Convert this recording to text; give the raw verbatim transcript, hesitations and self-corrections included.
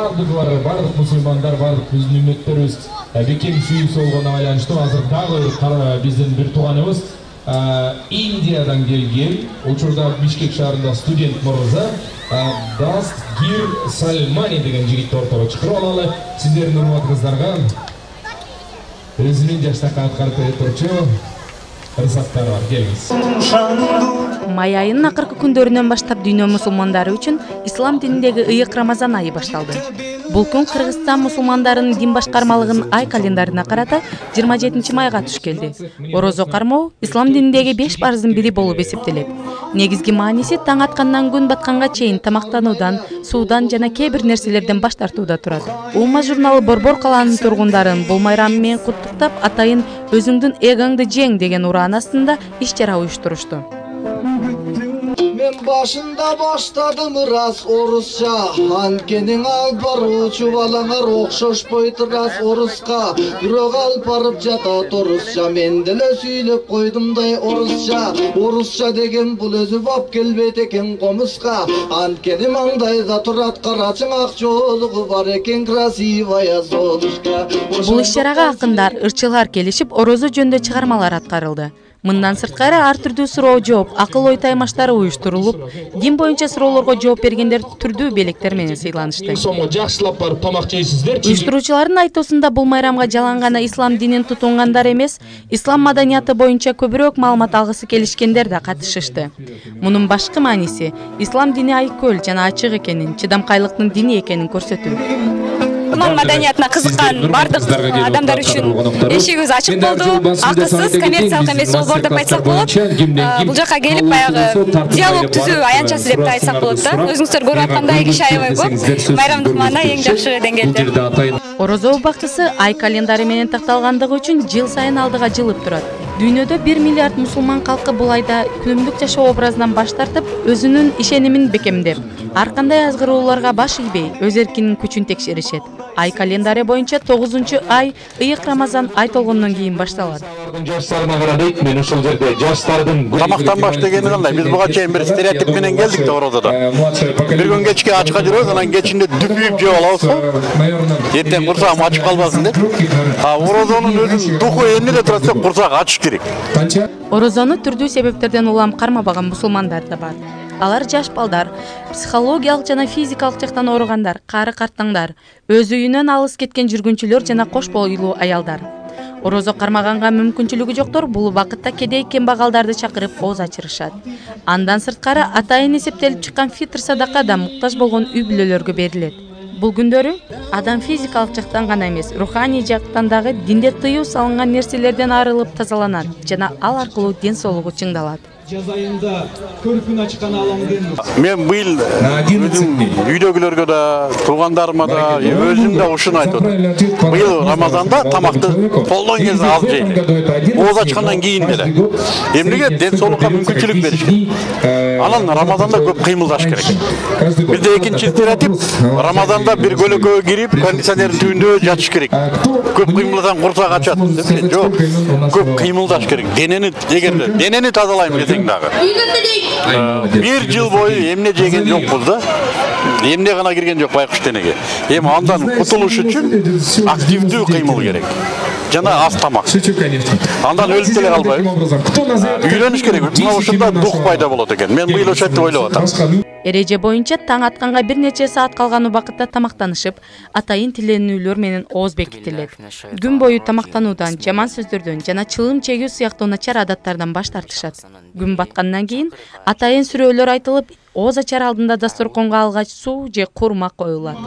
бардыклары, бардык мусулмандар, бардык биздин үммөттөрүбүз бекем сүйүүсү болгонуна байланыштуу азыр дагы биздин бир тууганыбыз Индиядан келген, учурда Бишкек шаарында студент мырза Дастгир Сальмани деген жигитти ортого чакырып алалы. Сиздердин урматыңыздарга өзүнүн жаштакка аткарып бере турчу ырсаттары бар. Келиңиз. Май айынын акыркы күндөрүнөн баштап дүйнө мусулмандары үчүн ислам дининдеги ыйык Рамазан айы башталды. Бул күн Кыргызстан мусулмандарынын дин башкармалыгынын ай календарына карата жыйырма жетинчи майга туш келди. Орозо кармоо ислам дининдеги беш парыздын бири болуп эсептелет. Негизги мааниси таң аткандан күн батканга чейин тамактануудан, суудан жана кээ бир нерселерден баш тартууда турат. Ума журналы Борбор калаанын тургундарын бул майрам менен куттуктап, атайын өзүңдүн эгоңду жең деген ураан астында иш чара уюштурушту. Мен башында баштадым рас орусча, анткенин алып баруучу балаңар окшошпойт рас оруска. Бирок алып барып жатат орусча, мен деле сүйлөп койдумдай орусча. Орусча деген бул өзү бап келбейт экен комуска, анткени маңдайда турат карачың ак жоолугу бар экен красивая золушка. Бул иш чарага акындар, ырчылар келишип, орозо жөнүндө чыгармалар аткарылды. Мындан сырткары ар түрдүү суроо жооп, акыл ой таймаштары уюштурулуп, дин боюнча суроолорго жооп бергендер түрдүү белектер менен сыйланышты. Жакшылап барып тамак жейсиздерчи? Уюштуруучулардын айтуусунда бул майрамга жалаң гана ислам динин тутунгандар эмес, ислам маданияты боюнча көбүрөөк маалымат алгысы келишкендер да катышышты. Мунун башкы мааниси ислам дини айкөл жана ачык экенин, чыдамкайлыктын дини экенин көрсөтүү. Ислам маданиятына кызыккан бардык адамдар үчүн эшигибиз ачык болду. Акысыз, коммерциялык эмес долбоор деп айтсак болот. Бул жака келип баягы диалог түзүү аянтчасы деп айтсак болот да. Өзүңүздөр көрүп аткандай киши аябай көп. Майрамдык маана эң жакшы деңгээлде. Орозо убактысы ай календары менен такталгандыгы үчүн жыл сайын алдыга жылып турат. Дүйнөдө бир миллиард мусулман калкы бул айда күнүмдүк жашоо образынан баш тартып, өзүнүн ишенимин бекемдеп, ар кандай азгыроолорго баш ийбей, өз эркинин күчүн текшеришет. Ай календары боюнча тогузунчу ай ыйык Рамазан ай толгондон кийин башталат. Жаштарына карадык, мен ошол жерде жаштардын тамактанбаш дегени кандай? Биз буга чейин бир стереотип менен келдик да орозодо. Бир күн кечке ачка жүрөбүз, анан кечинде дүпүйүп жеп алабыз го. Эртең курсагым ачып калбасын деп. А орозонун өзүнүн духу эмнеде турат десек, курсак ачыш керек. Орозону турдуу себептерден улам кармабаган мусулмандар да бар. Алар жаш балдар, психологиялык жана физикалык жактан ооругандар, кары картаңдар, өз үйүнөн алыс кеткен жүргүнчүлөр жана кош бойлуу аялдар. Орозо кармаганга мүмкүнчүлүгү жоктор бул убакытта кедей кембагалдарды чакырып ооз ачырышат. Андан сырткары атайын эсептелип чыккан фитр садака да муктаж болгон үй бүлөлөргө берилет. Бул күндөрү адам физикалык жактан гана эмес, руханий жактан дагы динде тыюу салынган нерселерден арылып тазаланат жана ал аркылуу ден соолугу чыңдалат. Жаз айында көркүн ачкан аламдын. Мен быйыл үйдөгүлөргө да, туугандарыма да, өзүм да ушуну айтып атам. Быйыл Рамазанда тамакты колдон келсе аз жейли. Ооз ачкандан кийин деле. Эмнеге ден соолукка мүмкүнчүлүк бериш керек. Анан Рамазанда көп кыймылдаш керек. Бизде экинчи стереотип, Рамазанда бир көлөкөгө кирип, кондиционердин түбүндө жатыш керек. Көп кыймылдасаң курсак ачат. Жок, көп кыймылдаш керек. Денени эгерде денени тазалайм десең дагы. Бир жыл бою эмне жеген жокпуз да. Эмне гана кирген жок байкуш денеге. Эми андан кутулуш үчүн активдүү кыймыл керек. Жана аз тамак. Андан өлүп деле калбайбыз. Үйлөнүш керек. Мына ушунда дух пайда болот экен. Мен быйыл ошентип ойлоп атам. Эреже боюнча таң атканга бир нече саат калган убакытта тамактанышып, атайын тиленүүлөр менен ооз бекитилет. Күн бою тамактануудан, жаман сөздөрдөн жана чылым чегүү сыяктуу начар адаттардан баш тартышат. Күн баткандан кийин атайын сүрөөлөр айтылып, ооз ачар алдында дасторконго алгач суу же курма коюлат.